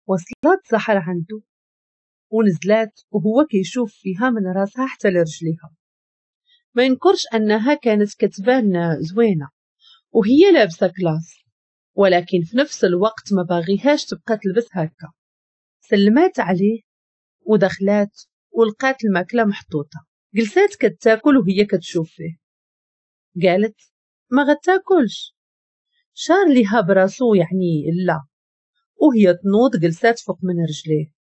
وصلت سحر عنده ونزلات وهو كيشوف فيها من راسها حتى لرجليها. ما ينكرش انها كانت كتبان زوينة وهي لابسه classe، ولكن في نفس الوقت ما باغيهاش تبقى تلبس هكا. سلمات عليه ودخلات ولقات الماكلة محطوطة. جلسات كتاكل وهي كتشوف فيه. قالت ما غتاكلش؟ شار ليها براسو يعني لا، وهي تنوض جلسات فوق من رجليه.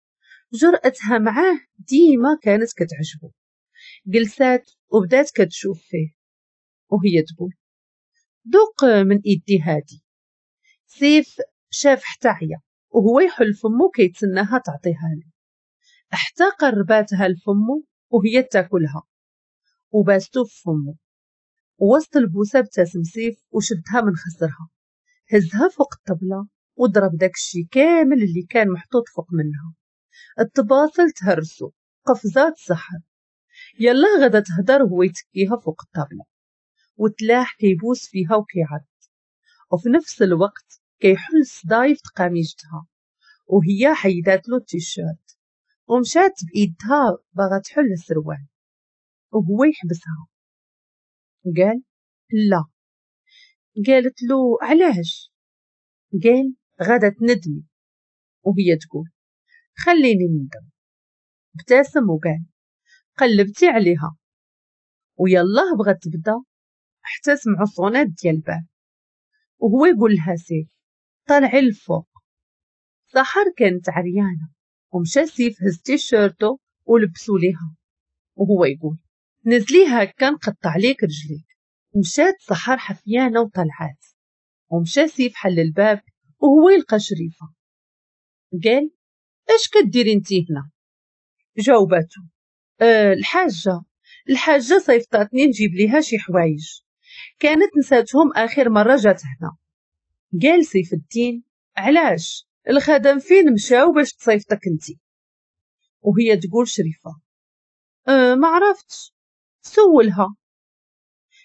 جرأتها معاه ديما كانت كتعجبو. جلسات وبدات كتشوف فيه وهي تقول دوق من ايدي هادي. سيف شاف حتى عيا وهو يحل فمو كيتسناها تعطيها له، حتى قرباتها لفمو وهي تاكلها وباستو في فمو. وسط البوسه ابتسم سيف وشدها من خصرها، هزها فوق الطبلة وضرب داكشي كامل اللي كان محطوط فوق منها. الطباصل تهرسو، قفزات سحر. يلا غدا تهدر وهو يتكيها فوق الطابلة وتلاح كيبوس فيها وكيعض، وفي نفس الوقت كيحل صدايف قميجتها، وهي حيدات له التيشيرت ومشات بإيدها باغا تحل السروال وهو يحبسها. قال لا. قالت له علاش؟ قال غدا تندمي، وهي تقول خليني نندم. ابتسم وقال قلبتي عليها. ويلاه بغات تبدا حتى سمعوا صونات ديال الباب وهو يقول لها سيف طلعي الفوق. سحر كانت عريانه ومشى سيف هز تيشيرتو ولبسو ليها وهو يقول نزلي هكا نقطع ليك رجليك. مشات سحر حفيانه وطلعات، ومشى سيف حل الباب وهو يلقى شريفه. قال اش كديري انتي هنا؟ جاوباتو الحاجة صيفطاتني نجيب ليها شي حوايج كانت نساتهم اخر مرة جات هنا. قال سيف الدين علاش الخدم فين مشاو باش تصيفطك انتي؟ وهي تقول شريفه ما عرفتش. سولها.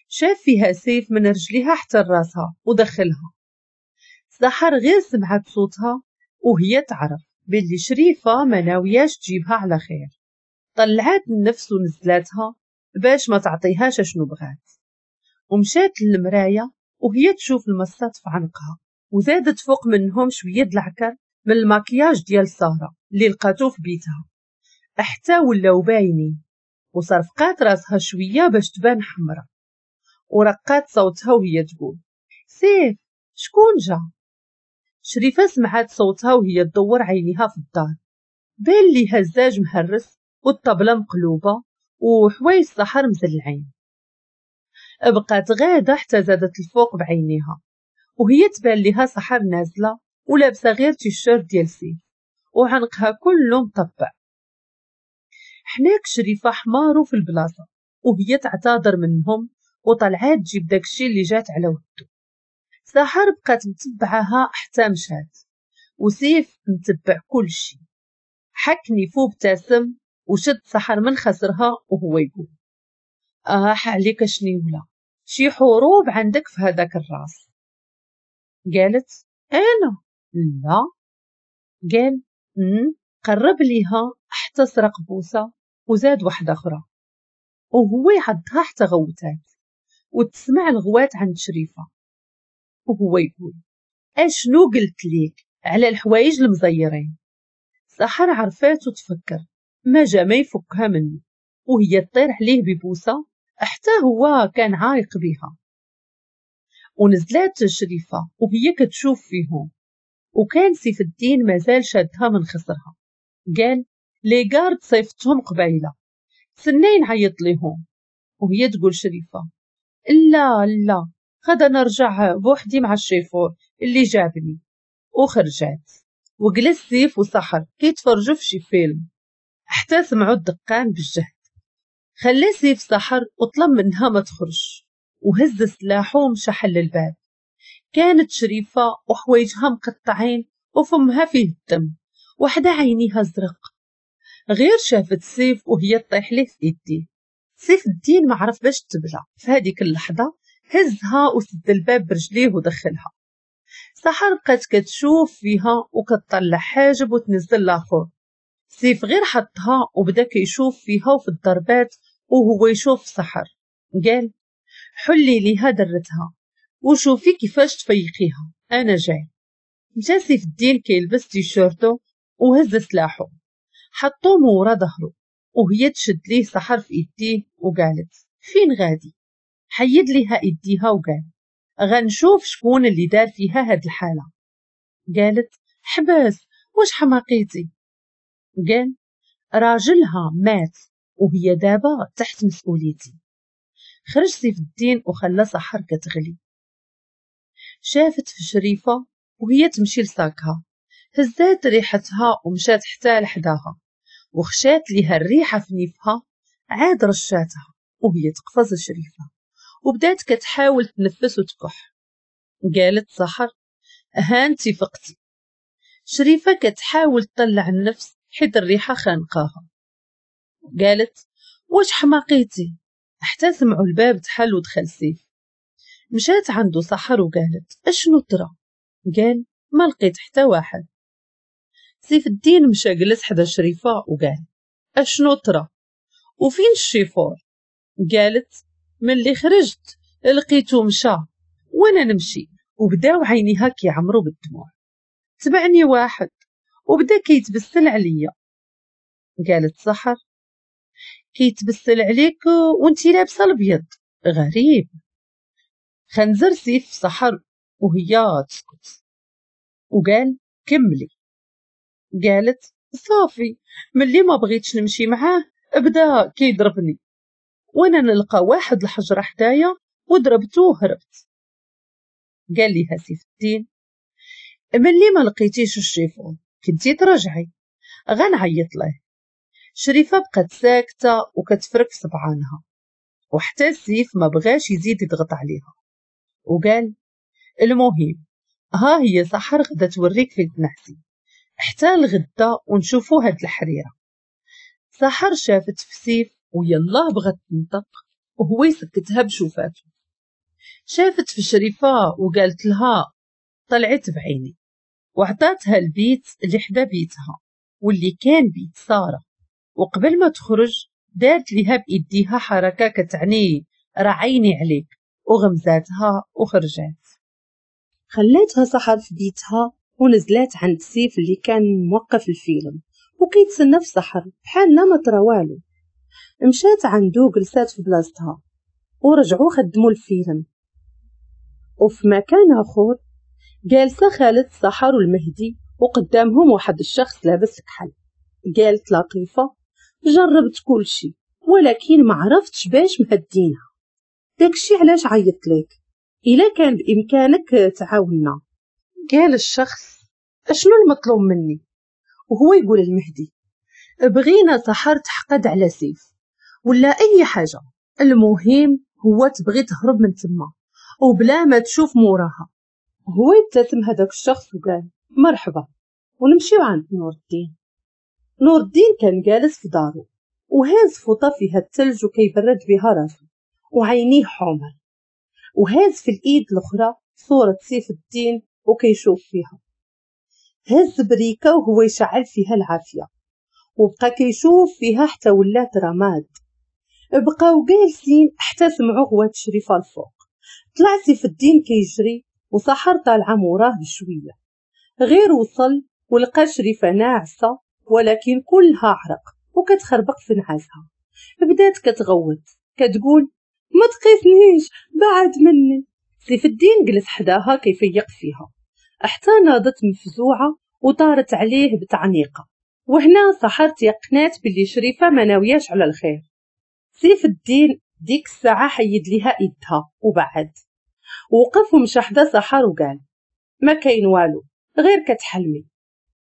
شاف فيها سيف من رجليها حتى راسها ودخلها. سحر غير سمعت صوتها وهي تعرف باللي شريفه ما ناوياش تجيبها على خير. طلعات النفس ونزلاتها باش ما تعطيهاش شنو بغات، ومشات للمرايه وهي تشوف المصات في عنقها، وزادت فوق منهم شوية د العكر من الماكياج ديال ساره اللي لقاتو في بيتها حتى ولاو باينين، وصرفقات راسها شوية باش تبان حمراء، ورقات صوتها وهي تقول سيف شكون جا؟ شريفه سمعات صوتها وهي تدور عينيها في الدار، بان ليها الزاج مهرس والطبله مقلوبة وحوايج السحر مزلعين. بقات غاده حتى زادت الفوق بعينيها وهي تبان ليها سحر نازله ولابسه غير تيشيرت ديال سيف وعنقها كله مطبع. حناك شريفه حمارو في البلاصة وهي تعتذر منهم وطلعات تجيب داكشي اللي جات على ودو. سحر بقات متبعاها حتى مشات وسيف متبع كل شي. حكني فوق ابتسم وشد سحر من خسرها وهو يقول عليك شنيوله شي حروب عندك في هذاك الراس. قالت انا لا. قال قرب ليها حتى سرق بوسه وزاد واحدة اخرى وهو يعضها حتى غوتات وتسمع الغوات عند شريفه وهو يقول اشنو قلت ليك على الحوايج المزيرين. سحر عرفات وتفكر ما جا ما يفكها منه وهي تطير عليه ببوسه حتى هو كان عايق بها. ونزلات شريفه وهي كتشوف فيهم، وكان سيف الدين مازال شادها من خصرها. قال les gardes صيفتهم قبيلة سنين عيط ليهم. وهي تقول شريفه لا لا غدا نرجع بوحدي مع الشيفور اللي جابني. وخرجات وجلس سيف وسحر كيتفرجوا في شي فيلم حتى سمعوا الدقان بالجهد. خلى سيف سحر وطلب منها ما تخرج وهز سلاحه ومشى حل الباب. كانت شريفة وحوايجها مقطعين وفمها فيه الدم وحدة عينيها زرق. غير شافت سيف وهي تطيح ليه في ايديه. سيف الدين ما عرف باش تبلى في هذيك اللحظة، هزها وسد الباب برجليه ودخلها. سحر بقات كتشوف فيها وكتطلع حاجب وتنزل الاخر. سيف غير حطها وبدا كيشوف فيها وفي الضربات وهو يشوف سحر. قال حلي ليها درتها وشوفي كيفاش تفيقيها، انا جاي. مشى سيف الدين كيلبس تيشيرتو وهز سلاحو حطو مورا ظهرو، وهي تشد ليه سحر في ايديه وقالت فين غادي؟ حيد ليها ايديها وقال غنشوف شكون اللي دار فيها هاد الحالة. قالت حباس، واش حماقيتي؟ قال راجلها مات وهي دابا تحت مسؤوليتي. خرج سيف الدين وخلى سحر كتغلي. شافت في شريفة وهي تمشي لساكها، هزات ريحتها ومشات حتى لحداها وخشات ليها الريحة في نيفها، عاد رشاتها وهي تقفز شريفة وبدات كتحاول تنفس وتكح. قالت سحر هانتي فقتي. شريفة كتحاول تطلع النفس حيت الريحة خانقاها. قالت واش حماقيتي؟ حتى سمعوا الباب تحل ودخل سيف. مشات عنده سحر وقالت اشنو ترى؟ قال ما لقيت حتى واحد. سيف الدين مشى جلس حدا شريفة وقال اشنو ترى؟ وفين الشيفور؟ قالت ملي خرجت لقيته مشى وانا نمشي. وبداو عينيها كيعمروا بالدموع. تبعني واحد وبدا كيتبسل عليا. قالت سحر كيتبسل عليك وانتي لابسه الابيض، غريب. خنزر سيف سحر وهي تسكت وقال كملي. قالت صافي ملي ما بغيتش نمشي معاه بدا كيضربني وانا نلقى واحد الحجره حدايا وضربته وهربت. قال ليها سيف الدين ملي ما لقيتيش الشيفون كنتي ترجعي، غنعيط له. شريفه بقات ساكته وكتفرك في صبعانها، وحتى سيف ما بغاش يزيد يضغط عليها وقال المهم ها هي سحر غدا توريك فين تنعسي حتى الغدا ونشوفو هاد الحريره. سحر شافت في سيف ويلاه بغات تنطق وهو يسكتها بشوفاته. شافت في شريفه وقالت لها طلعت بعيني، وعطاتها البيت اللي حدا بيتها واللي كان بيت ساره. وقبل ما تخرج دارت ليها بايديها حركه كتعني راه عيني عليك، وغمزاتها وخرجات. خلاتها سحر في بيتها ونزلات عند سيف اللي كان موقف الفيلم وكيتسنى في سحر بحال ما طرا والو. مشات عنده جلسات في بلاصتها ورجعوا خدموا الفيلم. وفي مكان اخر جالسه خالد سحر والمهدي وقدامهم واحد الشخص لابس كحل. قالت لطيفه جربت كل شيء ولكن ما عرفتش باش مهدينا، داكشي علاش عيطت لك، الا كان بامكانك تعاوننا. قال الشخص اشنو المطلوب مني؟ وهو يقول المهدي بغينا سحر تحقد على سيف ولا اي حاجه، المهم هو تبغي تهرب من تما وبلا ما تشوف موراها. هو يبتسم هذاك الشخص وقال مرحبا، ونمشيو عند نور الدين. نور الدين كان جالس في دارو وهاز فوطه فيها الثلج وكيبرد بها راسو وعينيه حمر، وهاز في الايد الاخرى صوره سيف الدين وكيشوف فيها. هز بريكه وهو يشعل فيها العافيه وبقى كيشوف فيها حتى ولات رماد. بقاو جالسين حتى سمعوا غوات شريفه الفوق. طلع سيف الدين كيجري وسحر طالعه موراه بشويه. غير وصل ولقى شريفه ناعسه ولكن كلها عرق وكتخربق في نعاسها. بدات كتغوت كتقول ما تقيسنيش بعد مني. سيف الدين جلس حداها كيفيق فيها حتى ناضت مفزوعه وطارت عليه بتعنيقه. وهنا سحر تيقنات باللي شريفه ما ناوياش على الخير. سيف الدين ديك الساعه حيد ليها ايدها وبعد وقف ومشى حدا سحر وقال ما كاين والو غير كتحلمي.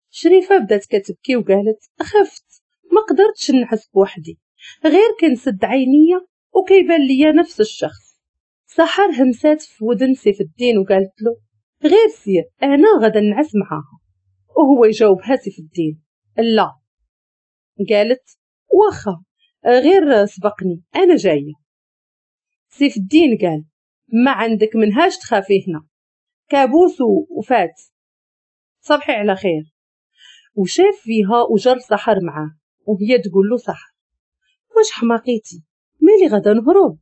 شريفه بدات كتبكي وقالت خفت ما قدرتش نعس بوحدي، غير كنسد عينيا وكيبان ليا نفس الشخص. سحر همسات في ودن سيف الدين وقالت له غير سير انا غدا نعس معاها. وهو يجاوبها سيف الدين لا. قالت واخا غير سبقني انا جايه. سيف الدين قال ما عندك منهاش تخافي هنا، كابوس وفات، صبحي على خير. وشاف فيها وجر سحر معاه، وهي تقول له سحر واش حماقيتي؟ مالي غدا نهرب؟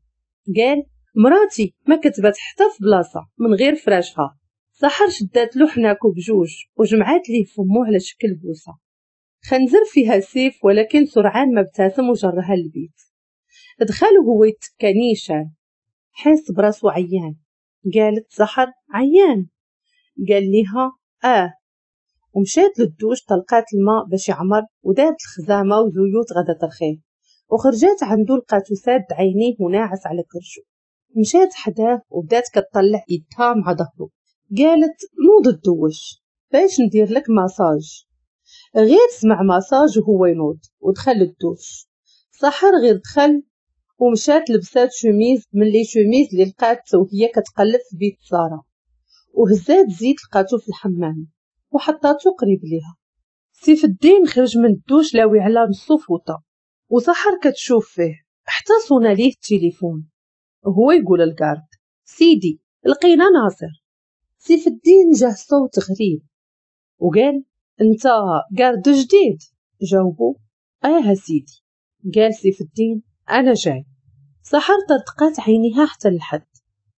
قال مراتي ما كتبات حتى في بلاصة من غير فراشها. سحر شدات له حناكو بجوج وجمعات ليه فمو على شكل بوسه. خنزر فيها سيف، ولكن سرعان ما ابتسم وجرها للبيت. دخل وهو يتكى نيشان، حاس براسو عيان. قالت سحر عيان؟ قال ليها اه. ومشات للدوش طلقات الماء باش يعمر، ودارت الخزامه وزيوت غدا ترخيه، وخرجات عنده لقاتو ساد عينيه وناعس على كرشو. مشات حداه وبدات كتطلع يدها مع ظهره. قالت نوض الدوش باش ندير لك ماساج. غير سمع ماساج وهو ينوض ودخل الدوش. سحر غير دخل ومشات لبسات شوميز من les chemises اللي لقات وهي كتقلب في بيت ساره، وهزات زيت لقاتو في الحمام وحطاتو قريب ليها. سيف الدين خرج من الدوش لاوي على نصو فوطه، وسحر كتشوف فيه حتى صونا ليه التليفون. وهو يقول ال garde سيدي لقينا ناصر. سيف الدين جاه صوت غريب وقال انت garde جديد؟ جاوبو اه سيدي. قال سيف الدين انا جاي. سحر طرطقات عينيها حتى للحد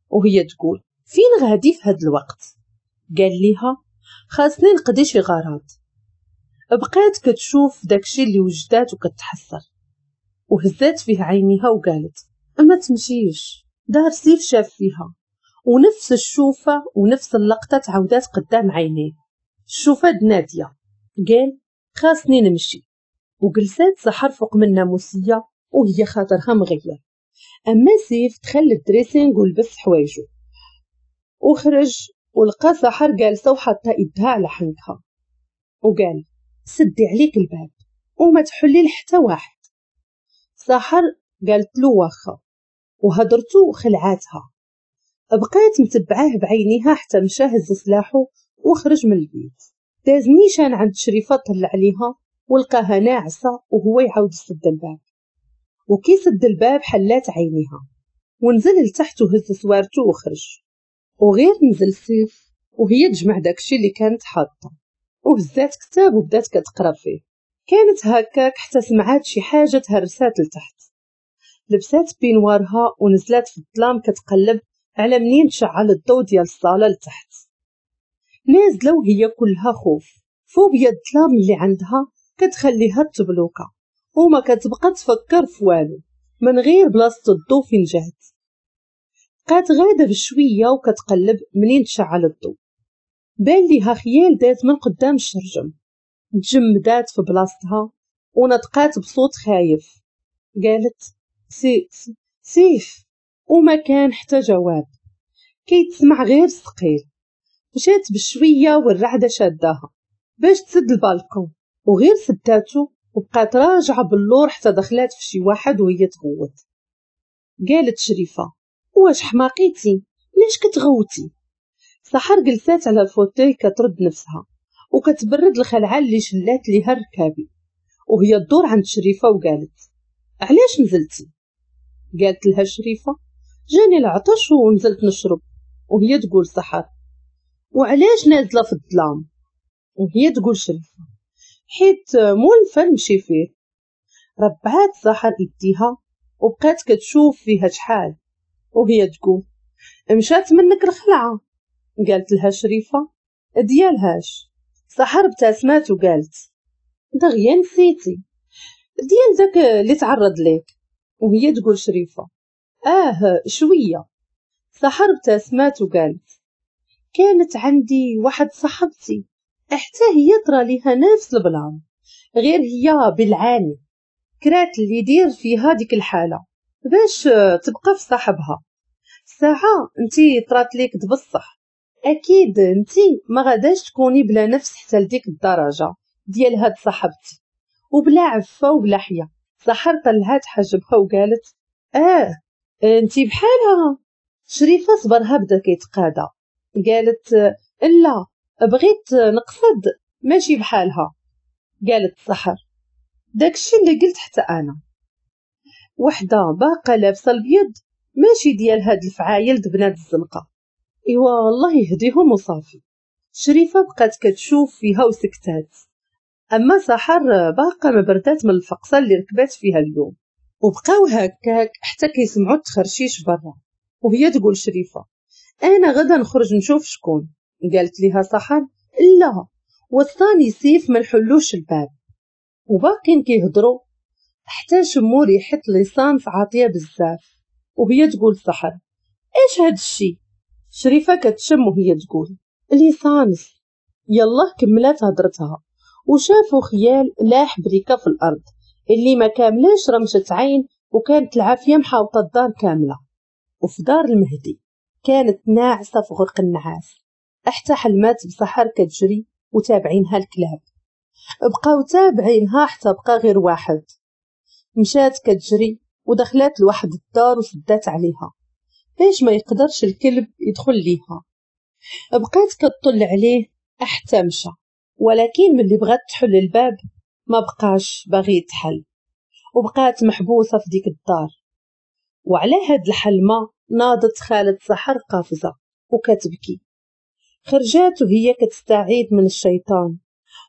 وهي تقول فين غادي في هاد الوقت؟ قال ليها خاصني نقضي شي غرض. بقات كتشوف داكشي اللي وجدات وكتحسر، وهزات فيه عينيها وقالت ما تمشيش. دار سيف شاف فيها ونفس الشوفة ونفس اللقطة تعودات قدام عينيه، الشوفة د نادية. قال خاصني نمشي. وجلسات سحر فوق من الناموسية وهي خاطرها مغير. أما سيف دخل لل dressing ولبس حوايجو وخرج، ولقى سحر جالسة وحاطة يدها على حنكها، وقال سدي عليك الباب وما تحلي لحتى واحد. سحر قالت له واخا، وهدرتو خلعاتها. بقات متبعاه بعينيها حتى مشى هز سلاحو وخرج من البيت. داز نيشان عند شريفة طلع عليها ولقاها ناعسة، وهو يعاود يسد الباب. وكي سد الباب حلات عينيها ونزل لتحت وهز سوارتو وخرج. وغير نزل سيف وهي تجمع داكشي اللي كانت حاطه، وهزات كتاب وبدات كتقرا فيه. كانت هكاك حتى سمعات شي حاجة تهرسات لتحت. لبسات peignoir ها ونزلات في الظلام كتقلب على منين تشعل الضو ديال الصاله لتحت. نازله وهي كلها خوف، فوبيا الظلام اللي عندها كتخليها تبلوكا وما كتبقى تفكر في والو من غير بلاصة الضو فين جات. بقات غاده بشوية وكتقلب منين تشعل الضو. بان ليها خيال داز من قدام الشرجم. تجمدات في بلاصتها ونطقات بصوت خايف، قالت سي سيف، وما كان حتى جواب، كيتسمع غير الثقيل. مشات بشوية والرعده شاداها باش تسد البالكون، وغير سداتو وبقات راجعه باللور حتى دخلات في شي واحد وهي تغوت. قالت شريفه واش حماقيتي؟ ليش كتغوتي؟ سحر جلسات على ال fauteuil كترد نفسها وكتبرد الخلعة اللي شلات ليها الركابي، وهي تدور عند شريفه وقالت علاش نزلتي؟ قالت لها شريفه جاني العطش ونزلت نشرب. وهي تقول سحر وعلاش نازله في الظلام؟ وهي تقول شريفه حيت مولفه نمشي فيه. ربعات سحر يديها وبقات كتشوف فيها شحال وهي تقول مشات منك الخلعة. قالت لها شريفه ديالهاش. سحر ابتسمات وقالت دغيا نسيتي ديال داك اللي تعرض ليك. وهي تقول شريفه اه شوية. سحر ابتسمات وقالت كانت عندي واحد صاحبتي حتى هي طرا ليها نفس ال plan، غير هي بالعاني كرات اللي يدير فيها ديك الحالة باش تبقى في صاحبها. ساعة انتي طرات ليك بصح، اكيد انتي ما غاداش تكوني بلا نفس حتى لديك الدرجة ديال هاد صاحبتي وبلا عفة وبلا حيا. سحر طلعات حاجبها وقالت اه انتي بحالها. شريفه صبرها بدا كيتقادى، قالت لا بغيت نقصد ماشي بحالها. قالت سحر داكشي اللي قلت حتى انا، وحده باقا لابسه البيض ماشي ديال هاد الفعايل د بنات الزنقة. ايوا الله يهديهم وصافي. شريفه بقات كتشوف فيها وسكتات. اما سحر باقا ما بردات من الفقصه اللي ركبات فيها اليوم، وبقاو هكاك حتى كيسمعوا التخرشيش برا. وهي تقول شريفه انا غدا نخرج نشوف شكون. قالت لها سحر لا، وصاني سيف ما نحلوش الباب. وباقين كيهضروا حتى شمو ريحه l'essence عاطيه بزاف. وهي تقول سحر ايش هاد الشي؟ شريفه كتشم وهي تقول l'essence. يلا كملات هضرتها وشافوا خيال لاح بريكه في الارض اللي ما كاملاش رمشة عين، وكانت العافية محاوطه الدار كاملة. وفي دار المهدي كانت ناعسه في غرق النعاس حتى حلمات بسحر كتجري وتابعينها الكلاب. بقاو تابعينها حتى بقى غير واحد. مشات كتجري ودخلات لواحد الدار وسدات عليها باش ما يقدرش الكلب يدخل ليها. بقات كتطل عليه حتى مشى، ولكن ملي بغات تحل الباب ما بقاش باغي يتحل، وبقات محبوسة في ديك الدار. وعلى هاد الحلمة ناضت خالة سحر قافزه وكتبكي. خرجات وهي كتستعيد من الشيطان،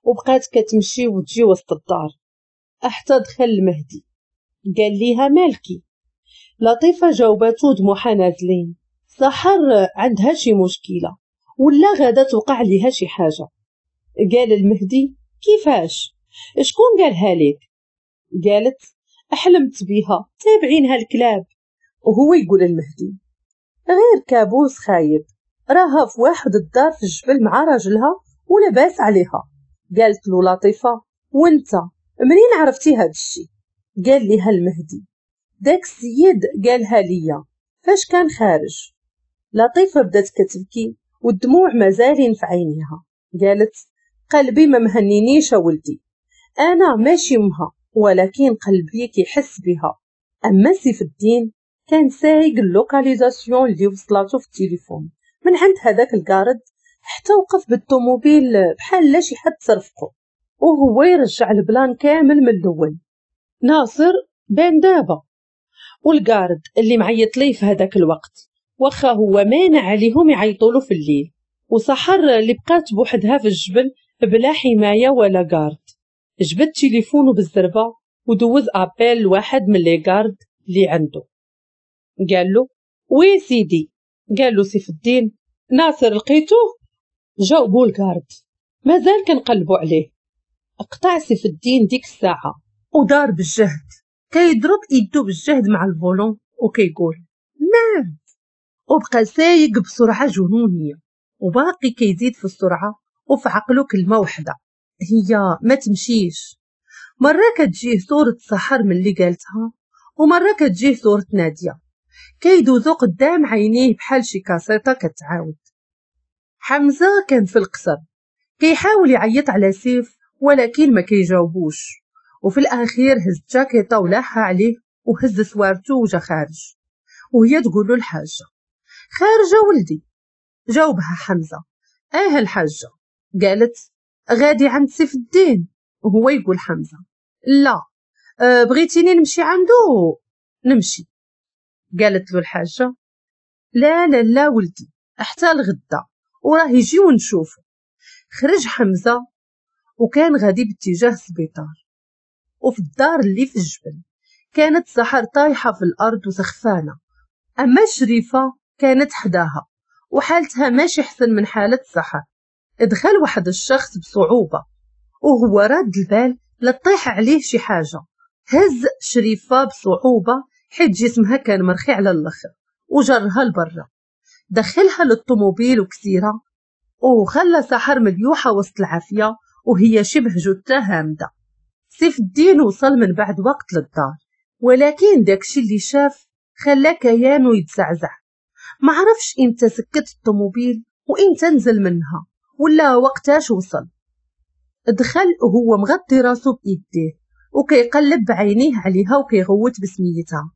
وبقات كتمشي وتجي وسط الدار حتى دخل المهدي. قال ليها مالكي؟ لطيفة جاوباتو دموعها نازلين، سحر عندها شي مشكلة ولا غادا توقع ليها شي حاجة. قال المهدي كيفاش؟ شكون قالها لك؟ قالت احلمت بيها تابعينها الكلاب. وهو يقول المهدي غير كابوس خايب، راها في واحد الدار في الجبل مع راجلها ولا باس عليها. قالت له لطيفة وانت منين عرفتي هاد الشي؟ قال لها المهدي داك السيد قالها ليا فاش كان خارج. لطيفة بدات كتبكي والدموع مازالين في عينيها. قالت قلبي ما مهنينيش ولدي، انا ماشي امها ولكن قلبي كيحس بها. اما سيف الدين كان سايق ال localisation اللي وصلاتو في التليفون من عند هذاك ال garde حتى وقف بالطوموبيل بحال لا شي حد صرفقو، وهو يرجع ال plan كامل من الاول. ناصر بان دابا، وال garde اللي معيط ليه في هذاك الوقت واخا هو مانع عليهم يعيطولو في الليل، وسحر اللي بقات بوحدها في الجبل بلا حماية ولا garde. جبد تليفونه بالزربه ودوز appel لواحد من les gardes اللي عنده. قال له oui سيدي. قال له سيف الدين ناصر لقيتوه؟ جاوبو ال garde مازال كنقلبوا عليه. اقطع سيف الدين ديك الساعة ودار بالجهد كيضرب ايدو بالجهد مع ال volant وكيقول merde، وبقى سايق بسرعة جنونيه وباقي كيزيد في السرعة، وفي عقله كلمة وحده هي ما تمشيش. مرة كتجيه صوره سحر من اللي قالتها، ومرة كتجيه صوره ناديه، كيدوزو قدام عينيه بحال شي كاسيطه كتعاود. حمزة كان في القصر كيحاول يعيط على سيف ولكن ما كيجاوبوش، وفي الاخير هز جاكيطه ولاحها عليه وهز سوارتو وجا خارج. وهي تقول له الحاجة خارجه ولدي. جاوبها حمزة اه الحاجة. قالت غادي عند سيف الدين. وهو يقول حمزة لا بغيتيني نمشي عنده نمشي. قالت له الحاجة لا لا لا ولدي حتى الغدا وراه يجي ونشوفه. خرج حمزة وكان غادي باتجاه السبيطار. وفي الدار اللي في الجبل كانت سحر طايحة في الأرض وسخفانة، أما شريفة كانت حداها وحالتها ماشي حسن من حالة سحر. دخل واحد الشخص بصعوبة وهو راد البال لطيح عليه شي حاجة. هز شريفة بصعوبة حيت جسمها كان مرخي على الآخر وجرها لبرا، دخلها للطوموبيل وكسيرة وخلى سحر مليوحة وسط العافية وهي شبه جثة هامدة. سيف الدين وصل من بعد وقت للدار، ولكن داكشي اللي شاف خلى كيانو يتزعزع. ما عرفش امتى سكت الطوموبيل وامتى نزل منها ولا وقتاش وصل. دخل وهو مغطي راسو بايديه وكيقلب بعينيه عليها وكيغوت بسميتها.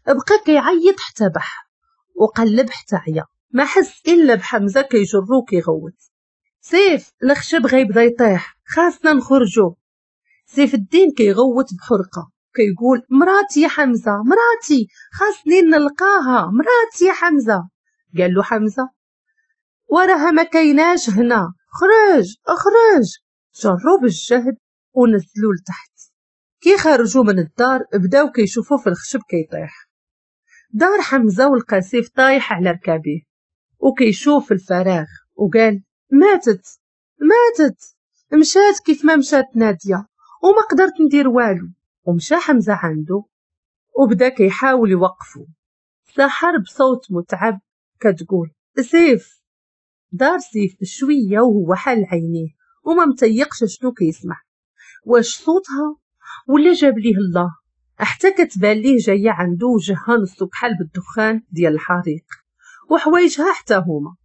بقى كيعيط حتى بح وقلب حتى عيا، ما حس الا بحمزة كيجرو وكيغوت سيف الخشب غيبدا يطيح خاصنا نخرجو. سيف الدين كيغوت بحرقه كيقول مراتي يا حمزة مراتي خاصني نلقاها مراتي يا حمزة. قال له حمزة وراها ما كايناش هنا، خرج اخرج. جروا بالجهد ونزلوا لتحت. كي خرجوا من الدار بداو كيشوفوا في الخشب كيطيح. دار حمزة ولقى سيف طايح على ركابيه وكيشوف الفراغ وقال ماتت ماتت، مشات كيف ما مشات نادية وما قدرت ندير والو. ومشى حمزة عنده وبدا كيحاول يوقفه. سحر بصوت متعب كتقول سيف. دار سيف بشوية وهو حال عينيه وما متيقش شنو كيسمع، واش صوتها ولا جاب ليه الله؟ حتى كتبان ليه جاية عنده وجهها نصو بحال بالدخان ديال الحريق وحوايجها حتى هما.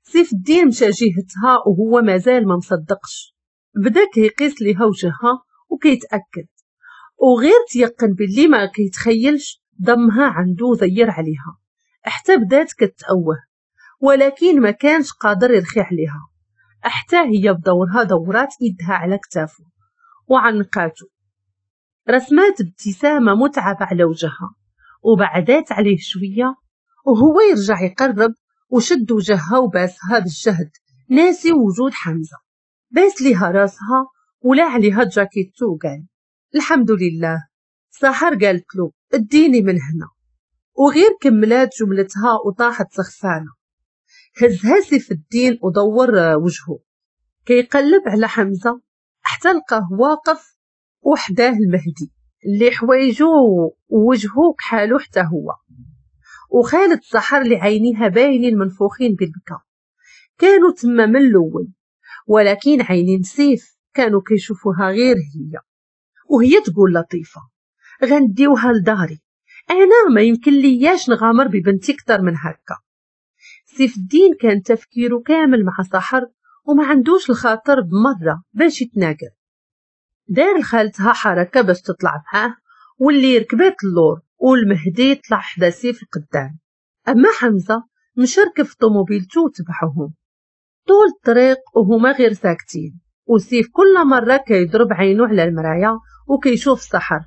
سيف الدين مشى جهتها وهو مازال ما مصدقش، بدا كيقيس ليها وجهها وكيتاكد، وغير تيقن باللي ما كيتخيلش ضمها عنده وزير عليها حتى بدات كتأوه، ولكن ما كانش قادر يرخي عليها. حتى هي بدورها دورات يدها على كتافه وعنقاته، رسمات ابتسامة متعبة على وجهها وبعدات عليه شوية، وهو يرجع يقرب وشد وجهها وباسها بالجهد ناسي وجود حمزة. باس ليها راسها ولا عليها جاكيتو وقال الحمد لله. سحر قالت له اديني من هنا، وغير كملات جملتها وطاحت سخفانة. هزها سيف الدين ودور وجهه كيقلب على حمزة حتى لقاه واقف وحداه المهدي اللي حوايجو ووجهو كحالو حتى هو، وخالد سحر اللي عينيها باينين منفوخين بالبكا. كانوا تما من الاول، ولكن عينين سيف كانوا كيشوفوها غير هي. وهي تقول لطيفة غنديوها لداري، انا ما يمكن لياش نغامر ببنتي اكثر من هكا. سيف الدين كان تفكيره كامل مع سحر وما عندوش الخاطر بمرة باش يتناقر. دار لخالتها حركة باش تطلع معاه، واللي ركبات اللور والمهدي طلع حدا سيف القدام. اما حمزة مشى ركب في طوموبيلتو وتبعهم طول الطريق وهما غير ساكتين، وسيف كل مرة كيضرب عينو على المراية وكيشوف سحر.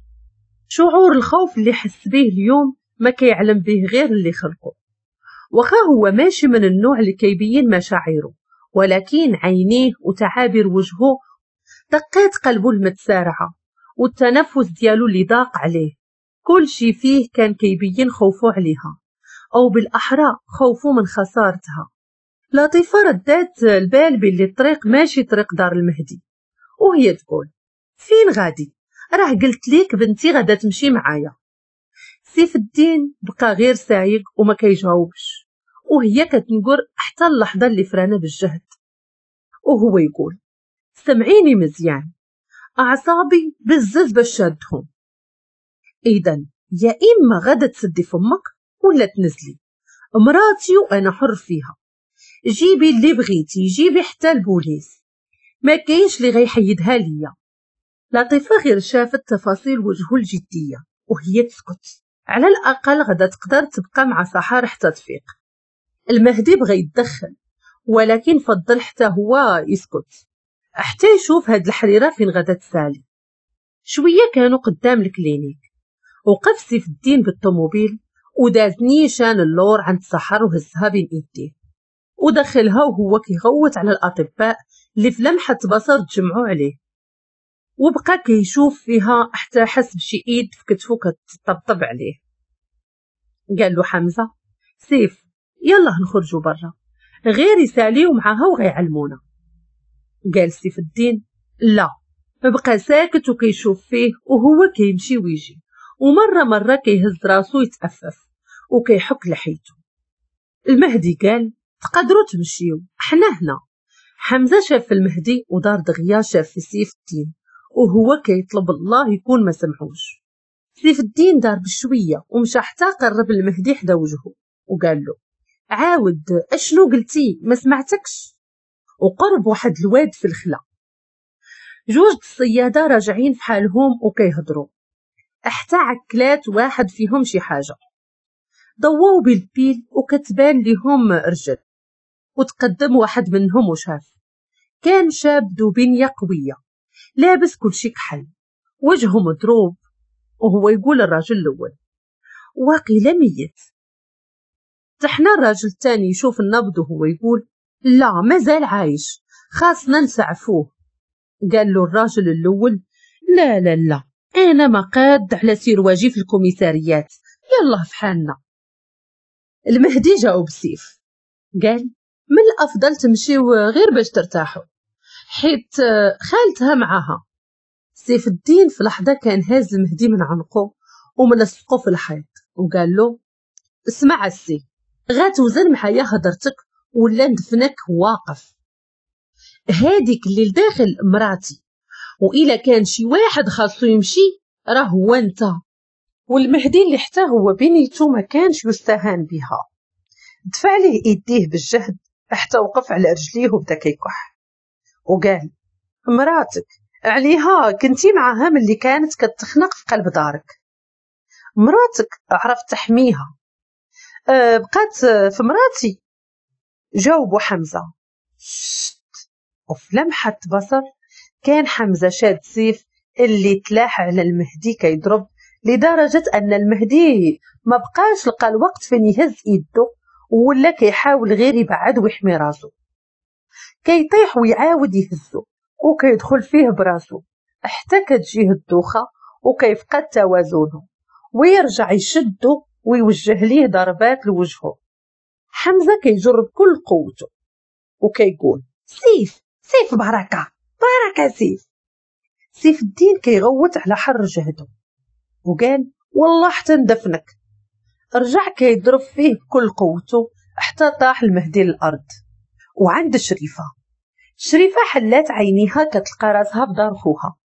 شعور الخوف اللي حس به اليوم ما كيعلم به غير اللي خلقه، وخا هو ماشي من النوع اللي كيبين مشاعره، ولكن عينيه وتعابير وجهه دقات قلبه المتسارعة والتنفس ديالو اللي ضاق عليه، كل شي فيه كان كيبين خوفه عليها، أو بالأحرى خوفه من خسارتها. لطيفة ردات البال باللي الطريق ماشي طريق دار المهدي، وهي تقول فين غادي؟ راه قلت ليك بنتي غادا تمشي معايا. سيف الدين بقى غير سايق وما كيجاوبش، وهي كتنقر حتى اللحظة اللي فرانا بالجهد، وهو يقول سمعيني مزيان، أعصابي بزز باش شادهم، إذا يا إما غادا تسدي فمك ولا تنزلي، مراتي وأنا حر فيها، جيبي اللي بغيتي، جيبي حتى البوليس، ما كاينش اللي غيحيدها ليا. لطيفة غير شافت تفاصيل وجهه الجدية وهي تسكت، على الأقل غدا تقدر تبقى مع سحر حتى تفيق. المهدي بغى يتدخل ولكن فضل حتى هو يسكت حتى يشوف هاد الحريرة فين غدا تسالي. شوية كانوا قدام ال clinique، وقف سيف الدين بالطوموبيل وداز نيشان اللور عند سحر وهزها بين ايديه ودخلها وهو كيغوت على الأطباء اللي في لمحة بصر تجمعوا عليه، وبقى كيشوف فيها حتى حس بشي ايد في كتفو كتطبطب عليه. قال له حمزة سيف يلا نخرجوا برا، غير يساليو معاها وغيعلمونا. قال سيف الدين لا، بقى ساكت وكيشوف فيه وهو كيمشي ويجي، ومرة مرة كيهز راسو يتأفف وكيحك لحيته. المهدي قال تقدروا تمشيو حنا هنا. حمزة شاف في المهدي ودار دغيا شاف في سيف الدين وهو كيطلب الله يكون ما سمعوش. سيف الدين دار بشوية ومشى حتى قرب المهدي حدا وجهه وقال له عاود اشنو قلتي ما سمعتكش. وقرب واحد الواد في الخلا، جوج الصيادة راجعين في حالهم وكيهضروا حتى عكلات واحد فيهم شي حاجة، ضووا بالبيل وكتبان لهم رجل، وتقدم واحد منهم وشاف كان شاب ذو بنية قوية لابس كل شي كحل وجهه مضروب، وهو يقول الراجل الأول واقيلا ميت. تحنى الراجل الثاني يشوف النبض وهو يقول لا مازال عايش، خاصنا نسعفوه. قال له الراجل الاول لا لا لا، انا ما قاد على سير واجي في الكوميساريات، يلا في حالنا. المهدي جاوب سيف قال من الافضل تمشيو غير باش ترتاحوا، حيت خالتها معاها. سيف الدين في لحظة كان هاز المهدي من عنقه وملصقه في الحيط وقال له اسمع السي، غاتوزن معايا هضرتك ولا ندفنك واقف. هاديك اللي لداخل مراتي، وإلا كان شي واحد خاصو يمشي راه هو انت. والمهدي اللي حتى هو بنيته ما كانش يستهان بها، دفع ليه ايديه بالجهد حتى وقف على رجليه وبدا كيكح وقال مراتك عليها كنتي معاها ملي كانت كتخنق في قلب دارك، مراتك عرفت تحميها، بقات في مراتي. جاوبوا حمزة شت. وفي لمحة بصر كان حمزة شاد سيف اللي تلاح على المهدي كيضرب، لدرجة أن المهدي ما بقاش لقى الوقت فين يهز يده، ولا كيحاول غير يبعد ويحمي راسو، كيطيح ويعاود يهزو وكيدخل فيه براسو حتى كتجيه الدوخة وكيفقد توازنه ويرجع يشدو ويوجه ليه ضربات لوجهه. حمزة كيجر بكل قوته وكيقول سيف سيف بركة بركة سيف. سيف الدين كيغوت على حر جهده وقال والله حتى ندفنك. رجع كيضرب فيه بكل قوته حتى طاح المهدي للأرض. وعند شريفة، شريفة حلات عينيها كتلقى راسها بدار خوها،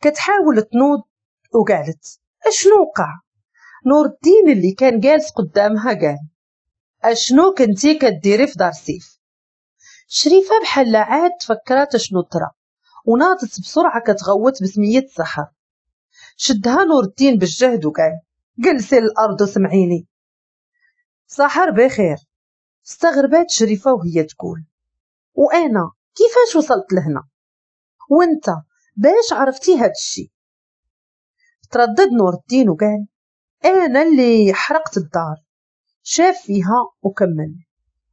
كتحاول تنوض وقالت اشنو وقع؟ نور الدين اللي كان جالس قدامها قال اشنو كنتي كديري في دار سيف؟ شريفة بحال عاد تفكرات اشنو طرا وناضت بسرعة كتغوت بسمية سحر. شدها نور الدين بالجهد وقال جلسي للأرض وسمعيني، سحر بخير. استغربات شريفة وهي تقول وأنا كيفاش وصلت لهنا؟ وانت باش عرفتي هاد الشي؟ تردد نور الدين وقال أنا اللي حرقت الدار. شاف فيها وكمل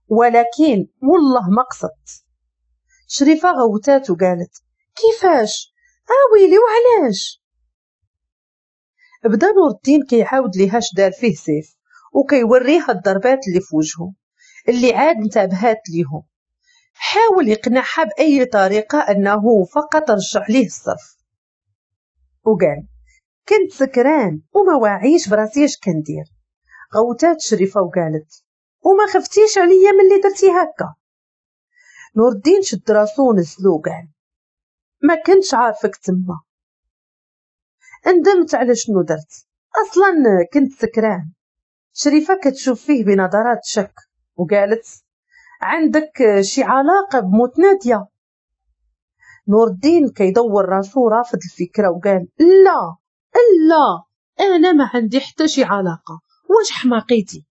ولكن والله ما قصدت. شريفة غوتات وقالت كيفاش؟ آويلي وعلاش؟ بدا نور الدين كيعاود ليها شدار فيه سيف وكيوريها الضربات اللي في وجهه اللي عاد انتبهات ليهم. حاول يقنعها بأي طريقة أنه فقط رجع ليه الصرف وقال كنت سكران وما واعيش براسي اش كندير. غوتات شريفة وقالت وما خفتيش عليا ملي درتي هكا؟ نور الدين شد راسو ونزلو وقال ما كنتش عارفك تما، ندمت على شنو درت، اصلا كنت سكران. شريفة كتشوف فيه بنظرات شك وقالت عندك شي علاقة بموت نادية؟ نور الدين كيدور راسو رافض الفكرة وقال لا لا انا ما عندي حتى شي علاقة، واش حماقيتي؟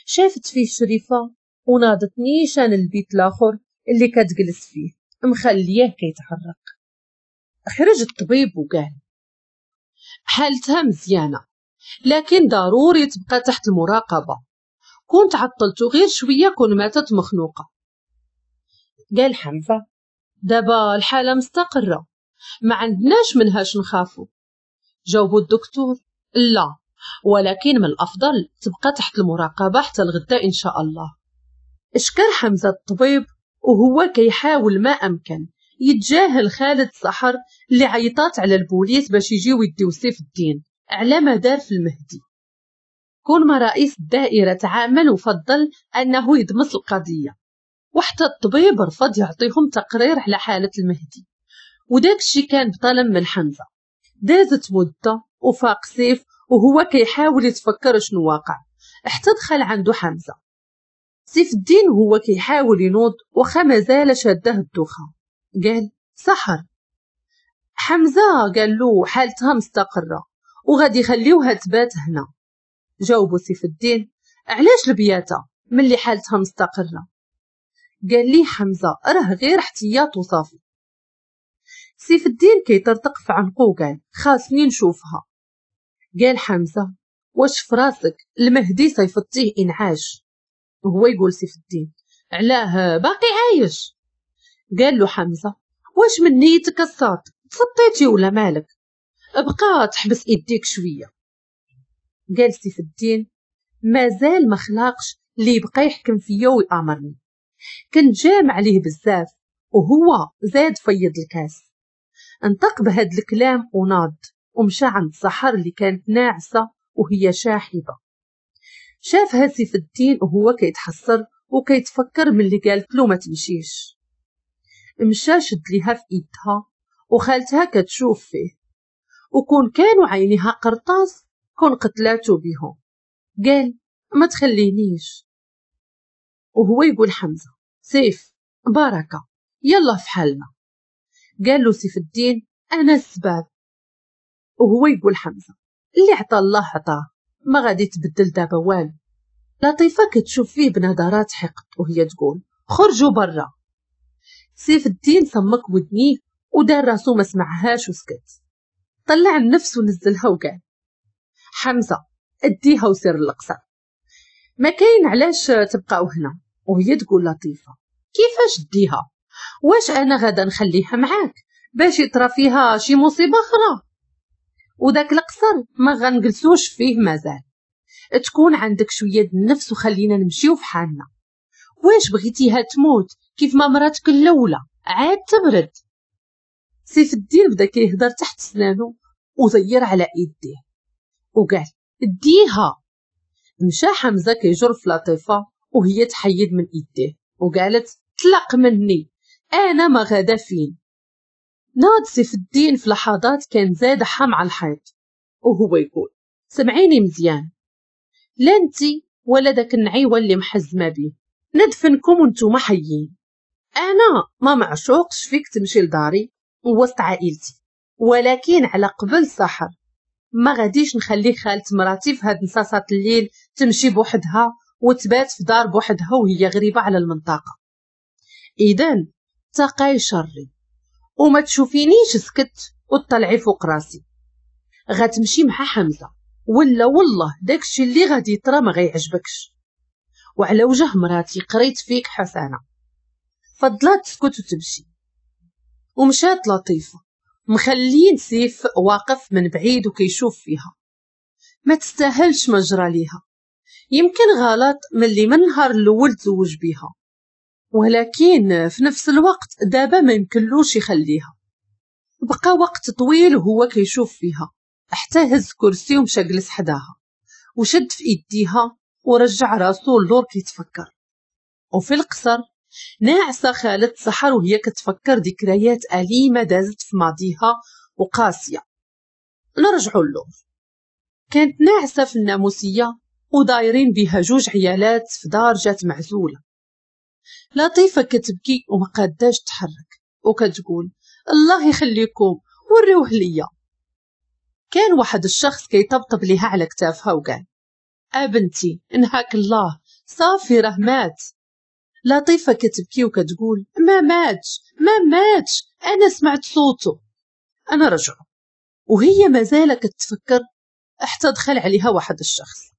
شافت فيه شريفة وناضت نيشان البيت الاخر اللي كتجلس فيه مخلياه كيتحرك. خرج الطبيب وقال حالتها مزيانة لكن ضروري تبقى تحت المراقبة، كنت عطلتو غير شوية كون ماتت مخنوقة. قال حمزة دابا الحالة مستقرة ما عندناش منهاش نخافو. جاوبو الدكتور لا ولكن من الأفضل تبقى تحت المراقبة حتى الغداء إن شاء الله. اشكر حمزة الطبيب وهو كيحاول ما أمكن يتجاهل خالد سحر اللي عيطات على البوليس باش يجيو يديو سيف الدين على ما دار في المهدي. كون ما رئيس الدائرة تعامل وفضل أنه يدمس القضية، وحتى الطبيب رفض يعطيهم تقرير على حالة المهدي، وداك الشي كان بطلب من حمزة. دازت مدة وفاق سيف وهو كيحاول يتفكر شنو واقع حتى دخل عنده حمزة. سيف الدين وهو كيحاول ينوض وخا مازال شاده الدوخة قال سحر. حمزة قال له حالتها مستقرة وغادي يخليوها تبات هنا. جاوبو سيف الدين علاش البياتة ملي حالتها مستقرة؟ قال لي حمزة راه غير احتياط وصافي. سيف الدين كيطرطق في عنقو وقال خاصني نشوفها. قال حمزة واش فراسك المهدي صيفطتيه إنعاش؟ وهو يقول سيف الدين علاه باقي عايش؟ قال له حمزة واش من نيتك الساط، تسطيتي ولا مالك؟ بقى تحبس ايديك شوية. قال سيف الدين مازال ما خلاقش اللي يبقى يحكم فيا ويامرني، كنت جامع عليه بزاف وهو زاد فيض الكاس. انطق بهاد الكلام وناض ومشى عند سحر اللي كانت ناعسه وهي شاحبه. شافها سيف الدين وهو كيتحسر وكيتفكر من اللي قالت له ما تمشيش. مشى شد ليها في ايدها وخالتها كتشوف فيه، وكون كانوا عينيها قرطاس كون قتلاتو بيهم. قال ما تخلينيش. وهو يقول حمزة سيف بركة يلا في حالنا. قال له سيف الدين انا السباب. وهو يقول حمزة اللي عطى الله عطاه، ما غادي تبدل دابا والو. لطيفة كتشوف فيه بنظرات حقد وهي تقول خرجوا برا. سيف الدين صمك ودنيه ودار راسو ما سمعهاش وسكت. طلع النفس ونزلها وقال حمزة اديها وسير القصر، ما كاين علاش تبقاو هنا. وهي تقول لطيفة كيفاش ديها؟ واش انا غادا نخليها معاك باش يطرا فيها شي مصيبة اخرى؟ وداك القصر ما غنجلسوش فيه مازال، تكون عندك شوية النفس وخلينا نمشيو في حالنا. واش بغيتيها تموت كيف ما مراتك الاولى عاد تبرد؟ سيف الدين بدا كيهضر تحت سنانو وزير على ايديه وقال اديها. مشى حمزة كيجر في لطيفة وهي تحيد من ايديه وقالت طلق مني انا ما غادا فين. ناض سيف الدين في لحظات كان زادحها مع الحيط وهو يقول سمعيني مزيان، لا انتي ولا داك النعيوه اللي محزمه بيه ندفنكم وانتوما حيين. انا ما معشوقش فيك تمشي لداري ووسط عائلتي، ولكن على قبل سحر ما غاديش نخلي خالة مراتي في هاد نصاصات الليل تمشي بوحدها وتبات في دار بوحدها وهي غريبة على المنطقة. اذا تقاي شري وما تشوفينيش سكت وتطلعي فوق راسي. غتمشي مع حمزة ولا والله داكشي اللي غادي يطرا ما غيعجبكش. وعلى وجه مراتي قريت فيك حسنة. فضلات تسكت وتمشي. ومشات لطيفة مخلين سيف واقف من بعيد وكيشوف فيها. ما تستاهلش ما جرى ليها، يمكن غلط من اللي من نهار الاول تزوج بيها، ولكن في نفس الوقت دابا ما يمكنلوش يخليها. بقى وقت طويل وهو كيشوف فيها حتى هز كرسي ومشى جلس حداها وشد في ايديها ورجع راسو للور كيتفكر. وفي القصر ناعسه خالة سحر وهي كتفكر ذكريات أليمة دازت في ماضيها وقاسية. نرجعوا للور. كانت ناعسة في الناموسية ودايرين بها جوج عيالات في دار جات معزولة. لطيفة كتبكي وما قاداش تحرك وكتقول الله يخليكم وريوه ليا. كان واحد الشخص كيطبطب ليها على كتافها وقال أبنتي انهاك الله صافي راه مات. لطيفة كتبكي وكتقول ما ماتش ما ماتش أنا سمعت صوته. أنا رجعه. وهي مازال كتفكر حتى دخل عليها واحد الشخص.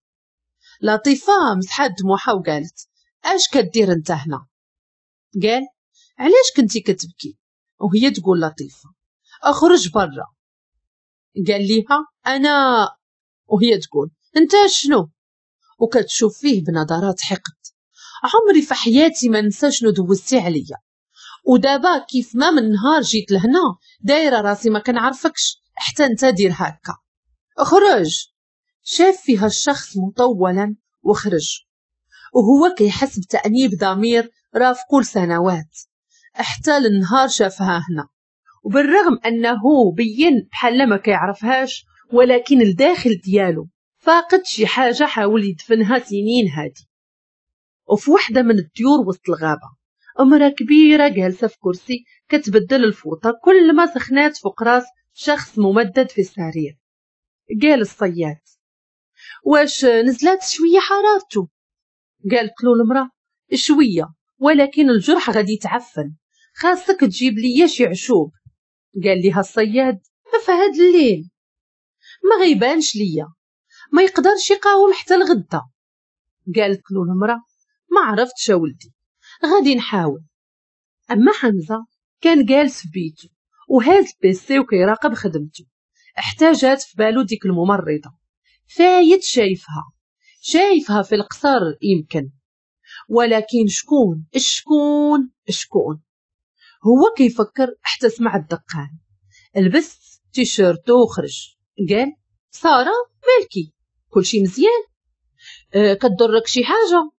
لطيفة مسحات دموعها وقالت اش كدير انت هنا؟ قال علاش كنتي كتبكي؟ وهي تقول لطيفة اخرج برا. قال ليها انا، وهي تقول انت شنو؟ وكتشوف فيه بنظرات حقد. عمري في حياتي ما ننسى شنو دوزتي عليا، ودابا كيف ما من نهار جيت لهنا دايرة راسي ما كنعرفكش حتى انت دير هكا، اخرج. شاف فيها الشخص مطولا وخرج وهو كيحس بتأنيب ضمير رافقه لسنوات حتى للنهار شافها هنا. وبالرغم انه بين بحال ما كيعرفهاش، ولكن الداخل ديالو فاقد شي حاجة حاول يدفنها سنين هادي. وفي وحده من الديور وسط الغابة امراة كبيرة جالسة في كرسي كتبدل الفوطه كل ما سخنات فوق راس شخص ممدد في السرير. قال الصياد واش نزلات شوية حرارته؟ قالت له المراة شوية، ولكن الجرح غادي يتعفن، خاصك تجيب ليا شي عشوب. قال لها الصياد فهاد الليل ما غيبانش ليا، ما يقدرش يقاوم حتى الغدا. قالت له المراة ما عرفتش ولدي، غادي نحاول. اما حمزة كان جالس في بيته وهاز PC وكيراقب خدمته. احتاجات في بالو ديك الممرضة، فايت شايفها في القصر يمكن، ولكن شكون شكون شكون؟ هو كيفكر حتى سمع الدقان. لبس تيشيرتو وخرج، قال ساره مالكي كلشي مزيان؟ كضرك شي حاجة؟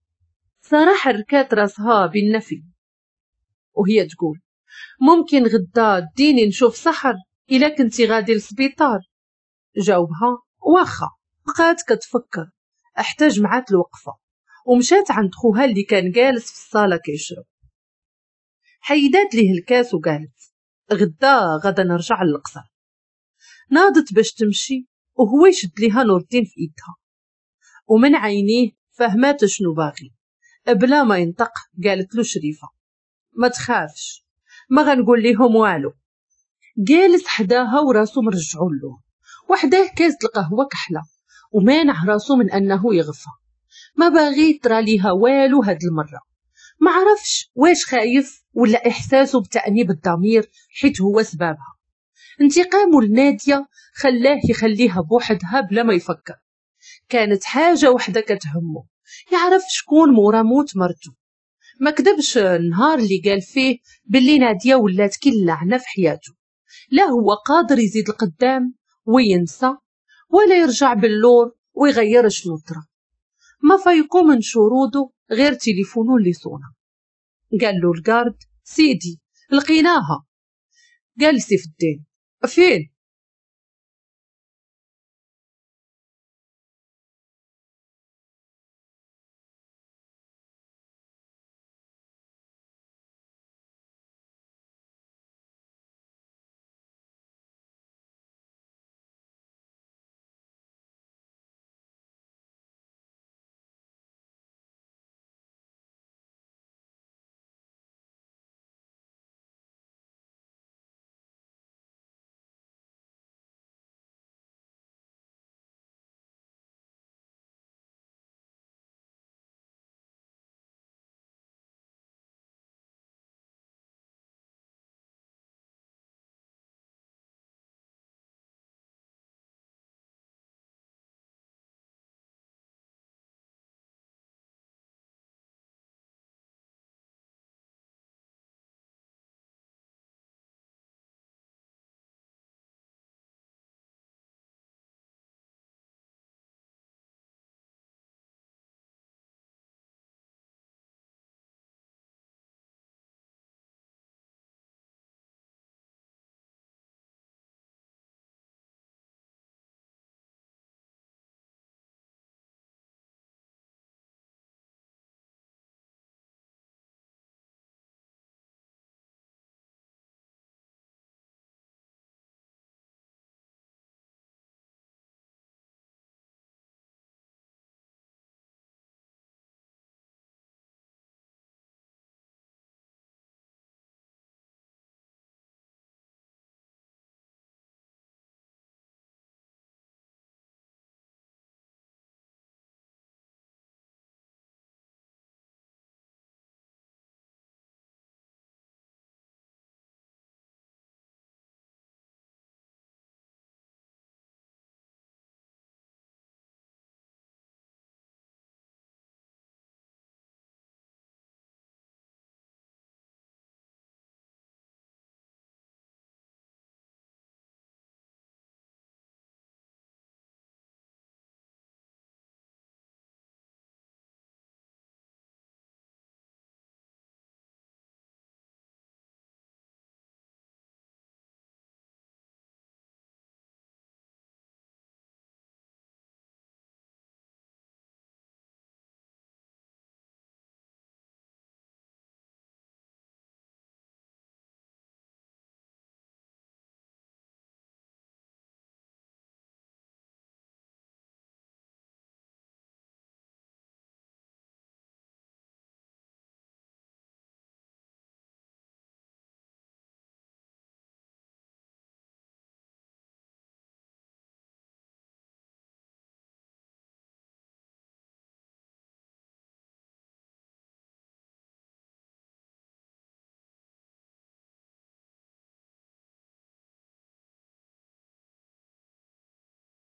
ساره حركات راسها بالنفي وهي تقول ممكن غدا ديني نشوف سحر الا كنتي غادي للسبيطار. جاوبها واخا. بقات كتفكر حتى جمعات الوقفة ومشات عند خوها اللي كان جالس في الصاله كيشرب. حيدات ليه الكاس وقالت غدا غدا نرجع للقصر. ناضت باش تمشي وهو يشد ليها نور الدين في ايدها، ومن عينيه فهمات شنو باغي. بلا ما ينطق قالت له شريفه ما تخافش، ما غنقول ليهم والو. جالس حداها وراسو مرجعو له، وحداه كاس القهوة كحلة ومانع راسو من انه يغفى. ما باغي ترى ليها والو هاد المرة. ما عرفش واش خايف ولا احساسه بتأنيب الضمير حيت هو سبابها. انتقامه لناديه خلاه يخليها بوحدها بلا ما يفكر. كانت حاجة وحده كتهمه، يعرف شكون مورا موت مرته. ما كذبش النهار اللي قال فيه باللي ناديه ولات كل لعنه في حياته. لا هو قادر يزيد القدام وينسى ولا يرجع باللور ويغير شنو طرا. ما فيقو من شروده غير تليفونه اللي صونا. قال له ال garde سيدي لقيناها. قال سيف الدين فين؟